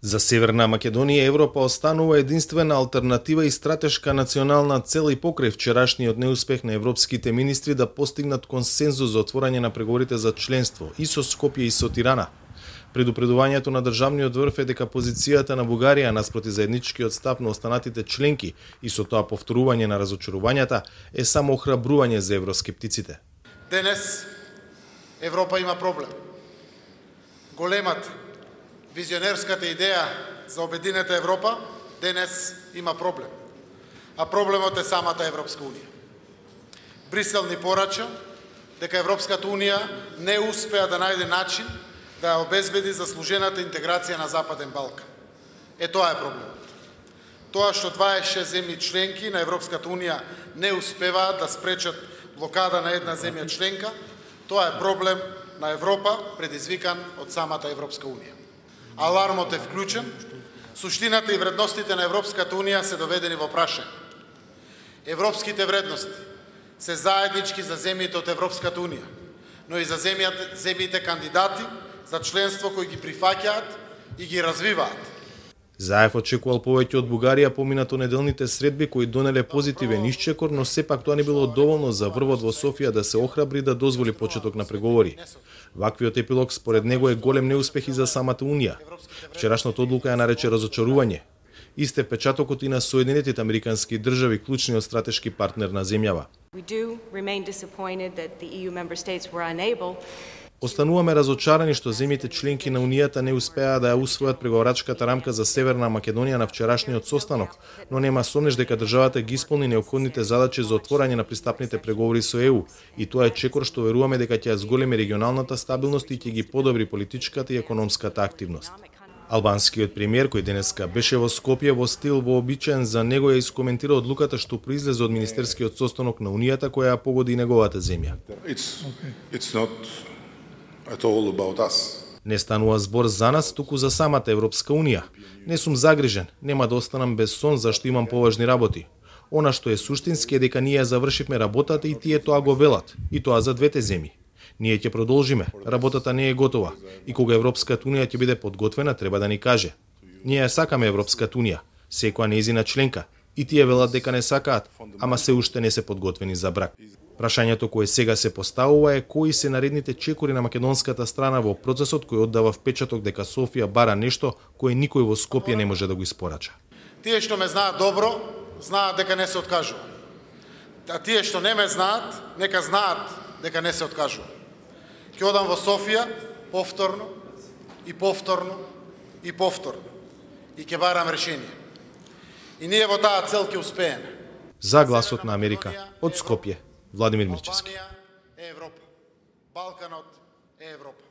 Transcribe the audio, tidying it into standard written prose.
За Северна Македонија Европа останува единствена алтернатива и стратешка национална цел и покрај вчерашниот неуспех на европските министри да постигнат консензус за отворање на преговорите за членство и со Скопје и со Тирана. Предупредувањето на државниот врв е дека позицијата на Бугарија наспроти заедничкиот став на останатите членки и со тоа повторување на разочарувањата е само охрабрување за евроскептиците. Денес Европа има проблем. Големата визионерската идеја за обединета Европа денес има проблем. А проблемот е самата Европска унија. Брисел ни порача дека Европската унија не успеа да најде начин да обезбеди заслужената интеграција на Западен Балкан. Тоа е проблемот. Тоа што 26 земји членки на Европската унија не успеваат да спречат блокада на една земја членка, тоа е проблем на Европа предизвикан од самата Европска унија. Алармот е вклучен, суштината и вредностите на Европската унија се доведени во прашање. Европските вредности се заеднички за земјите од Европската унија, но и за земјите кандидати за членство кои ги прифаќаат и ги развиваат. Заев очекувал повеќе од Бугарија поминато неделните средби кои донеле позитивен исчекор, но сепак тоа не било доволно за врвот во Софија да се охрабри да дозволи почеток на преговори. Ваквиот епилог според него е голем неуспех и за самата Унија. Вчерашната одлука ја нарече разочарување. Исте впечатокот и на Соединетите Американски држави, клучниот стратешки партнер на земјава. Остануваме разочарани што земјите членки на Унијата не успеа да ја усвојат преговарачката рамка за Северна Македонија на вчерашниот состанок, но нема сомнеш дека државата ги исполни неопходните задачи за отворање на пристапните преговори со ЕУ, и тоа е чекор што веруваме дека ќе ја зголеми регионалната стабилност и ќе ги подобри политичката и економската активност. Албанскиот премиер, кој денеска беше во Скопје во стил вообичаен за него, ја искоментира одлуката што произлезе од министерскиот состанок на Унијата која ја погоди неговата земја. Не станува збор за нас, туку за самата Европска унија. Не сум загрижен, нема да останам без сон зашто имам поважни работи. Она што е суштински е дека ние завршивме работата и тие тоа го велат, и тоа за двете земји. Ние ќе продолжиме, работата не е готова, и кога Европската унија ќе биде подготвена, треба да ни каже. Ние ја сакаме Европската унија, секоја нејзина членка, и тие велат дека не сакаат, ама се уште не се подготвени за брак. Прашањето кое сега се поставува е кои се наредните чекори на македонската страна во процесот кој оддава впечаток дека Софија бара нешто кое никој во Скопје не може да го испорача. Тие што ме знаат добро, знаат дека не се откажува. А тие што не ме знаат, нека знаат дека не се откажува. Ќе одам во Софија повторно и повторно и повторно и ќе барам решение. И ние во таа цел ќе успееме. За гласот на Америка од Скопје, Владимир Мирчевски. Албанија е Европа. Балканот е Европа.